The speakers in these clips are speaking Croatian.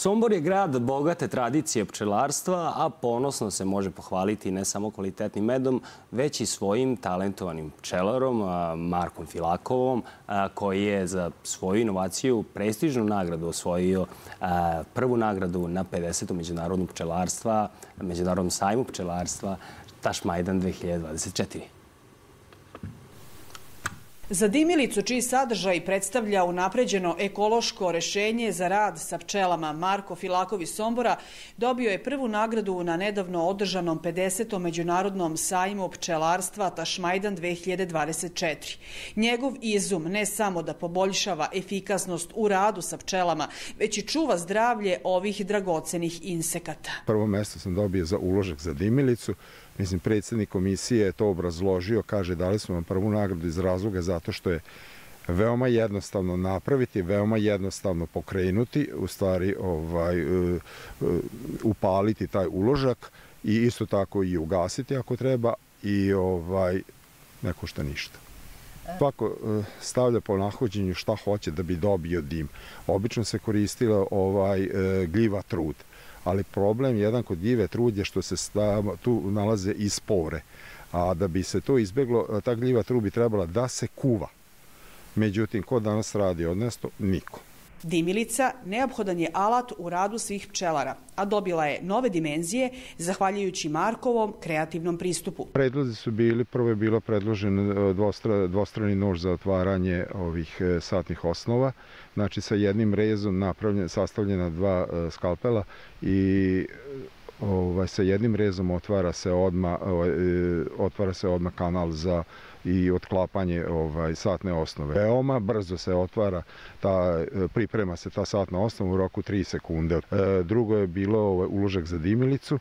Sombor je grad bogate tradicije pčelarstva, a ponosno se može pohvaliti ne samo kvalitetnim medom, već i svojim talentovanim pčelarom Markom Filakovom, koji je za svoju inovaciju prestižnu nagradu osvojio, prvu nagradu na 50. Međunarodnom sajmu pčelarstva Tašmajdan 2024. Za dimilicu, čiji sadržaj predstavlja unapređeno ekološko rešenje za rad sa pčelama, Marko Filakov iz Sombora dobio je prvu nagradu na nedavno održanom 50. Međunarodnom sajmu pčelarstva Tašmajdan 2024. Njegov izum ne samo da poboljšava efikasnost u radu sa pčelama, već i čuva zdravlje ovih dragocenih insekata. Prvo mesto sam dobio za uložak za dimilicu. Mislim, predsjednik komisije je to obrazložio, kaže dali smo vam prvu nagradu iz razloga zato što je veoma jednostavno napraviti, veoma jednostavno pokrenuti, u stvari upaliti taj uložak i isto tako i ugasiti ako treba i ne košta ništa. Svako stavlja po nahođenju šta hoće da bi dobio dim. Obično se koristila gljiva trud. Ali problem jedan kod gljive trud je što se tu nalaze i spore. A da bi se to izbjeglo, ta gljiva trud bi trebala da se kuva. Međutim, ko danas radi odnesto? Niko. Dimilica neophodan je alat u radu svih pčelara, a dobila je nove dimenzije zahvaljujući Markovom kreativnom pristupu. Predlozi su bili, prvo je bilo predložen dvostrani nož za otvaranje ovih satnih osnova, znači sa jednim rezom sastavljena dva skalpela i sa jednim rezom otvara se odmah kanal za i otklapanje satne osnove. Veoma brzo se otvara, priprema se ta satna osnova u roku 3 sekunde. Drugo je bilo uložak za dimilicu,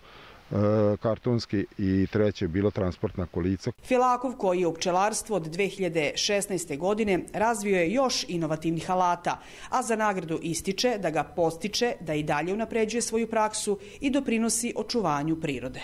kartonski, i treće je bilo transportna kolica. Filakov, koji je u pčelarstvu od 2016. godine, razvio je još inovativnih alata, a za nagradu ističe da ga podstiče da i dalje unapređuje svoju praksu i doprinosi očuvanju prirode.